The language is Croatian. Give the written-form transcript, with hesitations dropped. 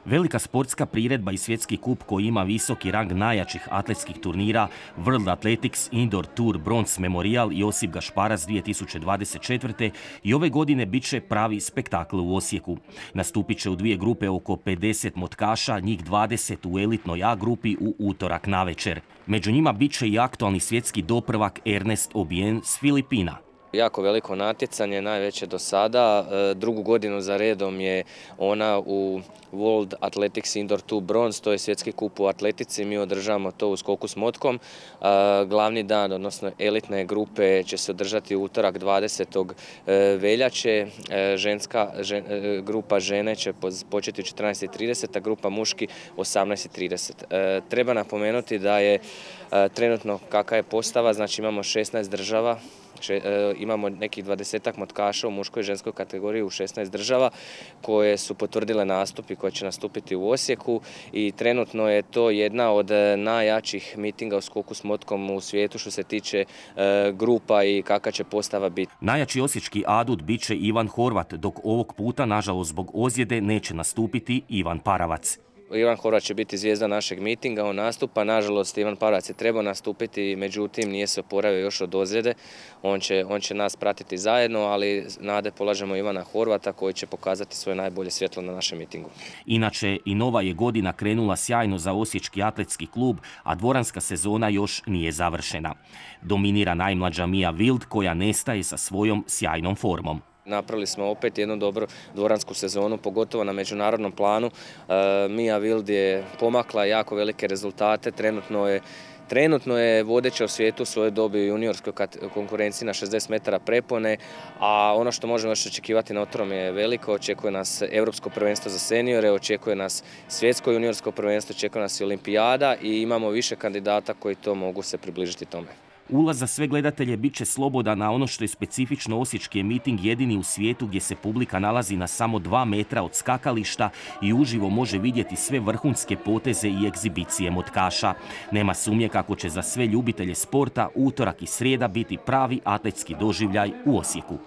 Velika sportska priredba i svjetski kup koji ima visoki rang najjačih atletskih turnira World Athletics Indoor Tour Bronze Memorial Josip Gašparac 2024. i ove godine bit će pravi spektakl u Osijeku. Nastupit će u dvije grupe oko 50 motkaša, njih 20 u elitnoj A grupi u utorak navečer. Među njima bit će i aktualni svjetski doprvak Ernest Obien s Filipina. Jako veliko natjecanje, najveće do sada. Drugu godinu za redom je ona u World Athletics Indoor Tour Bronze, to je svjetski kup u atletici. Mi održavamo to u skoku s motkom. Glavni dan, odnosno elitne grupe, će se održati u utorak 20. veljače. Grupa žene će početi u 14:30, a grupa muški 18:30. Treba napomenuti da je trenutno kakva je postava, znači imamo 16 država. Imamo nekih 20 motkaša u muškoj i ženskoj kategoriji u 16 država koje su potvrdile nastup i koje će nastupiti u Osijeku i trenutno je to jedna od najjačih mitinga u skoku s motkom u svijetu što se tiče grupa i kakva će postava biti. Najjači osječki adut bit će Ivan Horvat, dok ovog puta, nažalost zbog ozljede, neće nastupiti Ivan Paravac. Ivan Horvat će biti zvijezda našeg mitinga, on nastupa. Nažalost, Ivan Paravac je trebao nastupiti, međutim nije se oporavio još od ozljede. On će nas pratiti zajedno, ali nade polažemo Ivana Horvata koji će pokazati svoje najbolje svjetlo na našem mitingu. Inače, i nova je godina krenula sjajno za Osječki atletski klub, a dvoranska sezona još nije završena. Dominira najmlađa Mia Wild koja nestaje sa svojom sjajnom formom. Napravili smo opet jednu dobru dvoransku sezonu, pogotovo na međunarodnom planu. Mia Wild je pomakla jako velike rezultate, trenutno je vodeća u svijetu u svojoj dobi u juniorskoj konkurenciji na 60 metara prepone, a ono što možemo još očekivati na otrom je veliko. Očekuje nas Europsko prvenstvo za seniore, očekuje nas svjetsko juniorsko prvenstvo, očekuje nas i olimpijada i imamo više kandidata koji to mogu se približiti tome. Ulaz za sve gledatelje bit će slobodan, na ono što je specifično osječki je miting jedini u svijetu gdje se publika nalazi na samo 2 metra od skakališta i uživo može vidjeti sve vrhunske poteze i egzibicije motkaša. Nema sumnje kako će za sve ljubitelje sporta utorak i srijeda biti pravi atletski doživljaj u Osijeku.